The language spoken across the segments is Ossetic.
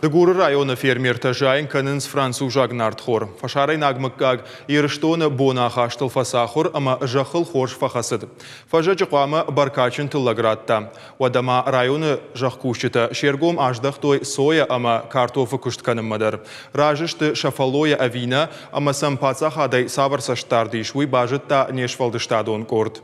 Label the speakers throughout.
Speaker 1: Дыгуры районы фермертӕ зайын кӕнынц французаг нартхор. Фӕсарӕйнаг мыггаг Ирыстоны боны ахастыл фӕцахуыр ӕмӕ зӕххыл хорз фӕхӕцыд. Фӕззӕджы хъуамӕ бӕркадджын тыллӕг радта. Уӕдӕ ма районы зӕхкусджытӕ се ргом аздӕхтой сойӕ ӕмӕ картофы куыст кӕнынмӕ дӕр. Разы сты сӕ фӕллойӕ ӕви нӕ, ӕмӕ сӕм паддзахадӕй цавӕр цӕстдард ис, уый базыдта не сфӕлдыстадон къорд.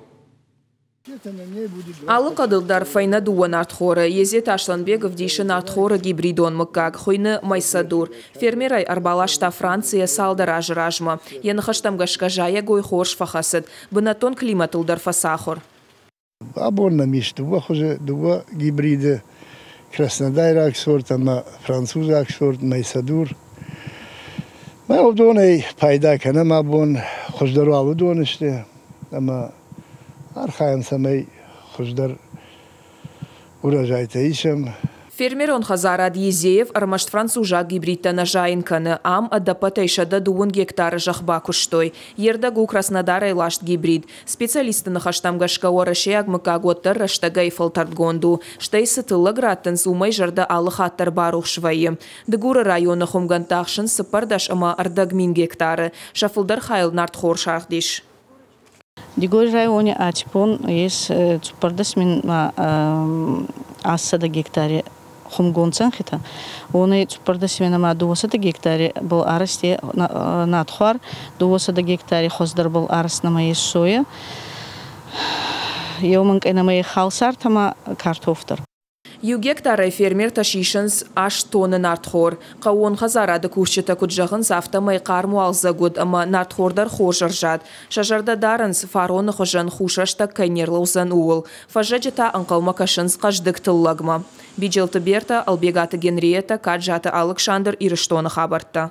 Speaker 2: Алы хъӕдыл дӕр фӕйнӕ дыууӕ нартхоры. Езеты Аслӕнбег ӕвдисы нартхоры гибридон мыггаг, хуыйны Майсадур. Фермерӕй ӕрбаласта Францийӕ цалдӕр азы размӕ. Йӕ ныхӕстӕм гӕсгӕ зайӕгой хорз фӕхӕцыд. Бынӕттон климатыл дӕр фӕцахуыр.
Speaker 3: Абон нӕм ис дыууӕ хуызы, дыууӕ гибриды: краснодайраг сорт ӕмӕ французаг сорт Майсадур. Мӕ уыдонӕй пайда кӕнӕм абон, хуыздӕр уал уыдон сты ӕмӕ архайӕм, цӕмӕй хуыздӕр урожайтӕ исӕм.
Speaker 2: Фермерон хӕдзарад Езеев ӕрмӕст французаг гибридтӕ нӕ зайын кӕны. Ам ӕдӕппӕтӕй 130 гектары зӕхх бакуыстой. Йе рдӕг у Краснодарӕй ласт гибрид. Специалистты ныхӕстӕм гӕсгӕ уӕрӕсейаг мыггаг уӕддӕр рӕстӕгӕй фӕлтӕрдгонд у. Стӕй цы тыллӕг раттынц, уымӕй зӕрдӕ алы хатт дӕр барухс вӕййы. Дыгуры районы хуымгӕндтӕ ахсынц 134,5 мин гектары. Сӕ фылдӕр хайыл нартхор сагъд ис.
Speaker 4: Дигори райони аци бон ес 14 800 гектари хумгонд зӕнхитӕ. Уонӕй 14 200 гектари был арӕзт нартхуар, 200 гектари хуӕздӕр был арӕзт нӕмӕ ес соя. Еу минкъий нӕмӕ халсартӕ ма картоф дӕр.
Speaker 2: Иу гектарӕй фермертӕ сисынц 8 тонны нартхор. Хъӕууон хӕдзарады кусджытӕ куыд зӕгъынц, афтӕмӕй хъарм уалдзӕг уыд ӕмӕ нартхор дӕр хорз ӕрзад. Сӕ зӕрдӕ дарынц, фароны хуызӕн хус рӕстӕг кӕй не рлӕудзӕн, ууыл. Фӕззӕджы та ӕнхъӕлмӕ кӕсынц хъӕздыг тыллӕгмӕ. Биджелты Бертӕ, Ӕлбегаты Генриетӕ, Каджаты Алыксандр, Ирыстоны хабӕрттӕ.